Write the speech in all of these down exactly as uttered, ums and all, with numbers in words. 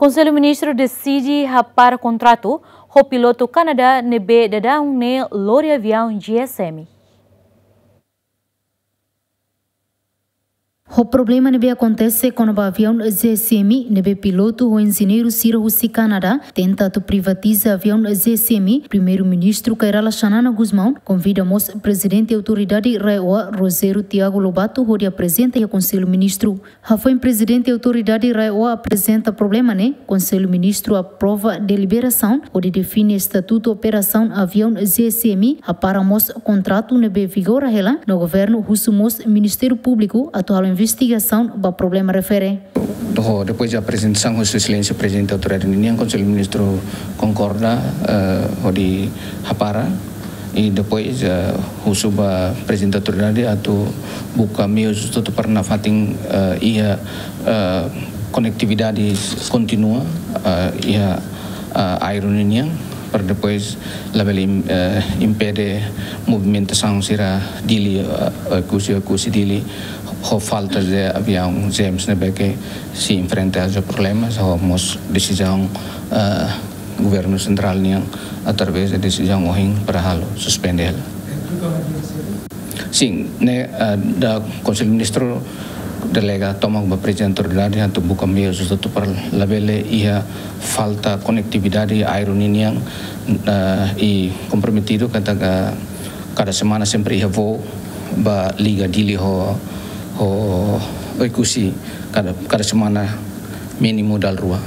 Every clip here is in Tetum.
Konsellu Ministru deside hapara kontratu ho pilotu Kanadá ne'ebé daudaun ne'e lori aviaun G S M. Ho problema ne'ebé akontese kona-ba aviaun G S M ne'ebé pilotu ho enjeñeiru sira husi Kanadá tenta atu privatiza aviaun G S M, Primeiru-Ministru Kay Rala Xanana Gusmão konvida mós Prezidente Autoridade RAEOA Rogério Tiago Lobato hodi aprezenta iha Konsellu Ministru. Hafoin Prezidente Autoridade RAEOA aprezenta problema ne'e, Konsellu Ministru aprova deliberasaun hodi define estatutu operasaun aviaun G S M, hapara mós kontratu ne'ebé vigora hela, no governu husu mós Ministériu Públiku atu halo investigasaun ba problema refere. Ho, depois de aprezentasaun husi Sua Exelénsia Prezidente Autoridade ninian, Konsellu Ministru konkorda, eh, hodi hapara, i depois, eh, husu ba Prezidente Autoridade atu buka meius hotu-hotu para nafatin, eh, iha, eh, konetividade kontinua, eh, iha, eh, aéreu ninian, para depois labele im-, eh, impede movimentasaun sira Dili, eh, Oekusi, Oekusi Dili, ho falta de aviaun G M ne'ebé ke sei enfrenta aos problemas, ho mós desizaun, eh, Governu Sentrál nian através de desizaun ohin para halo suspende hela. Sin, ne'e, eh, da Konsellu Ministru delega tomak ba Prezidente Autoridade atu buka meius hotu-hotu para labele iha falta konetividade aéreu ninian, eh, i komprometidu katak kada semana sempre iha voo ba liga Dili ho, ho Oekusi kada, kada semana mínimu dala rua.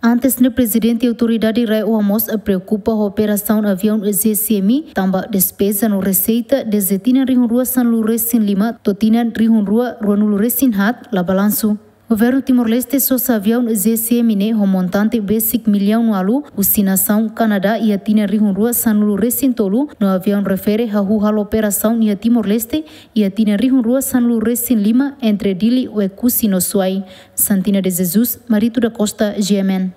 Antes ne'e Prezidente Autoridade RAEOA mós preokupa ho operasaun aviaun G S M, tanba despeza no reseita dezde tinan rihun rua sanulu resin lima to'o tinan rihun rua ruanulu resin haat la balansu. Governu Timor-Leste sosa aviaun G S M ne'e ho montante besik millaun ualu husi nasaun Kanadá iha tinan rihun rua sanulu resin tolu, no aviaun refere hahú halo operasaun iha Timor-Leste iha tinan rihun rua sanulu resin lima entre Dili, Oekusi no Suai. Santina de Jesus, Marito da Costa, G M N.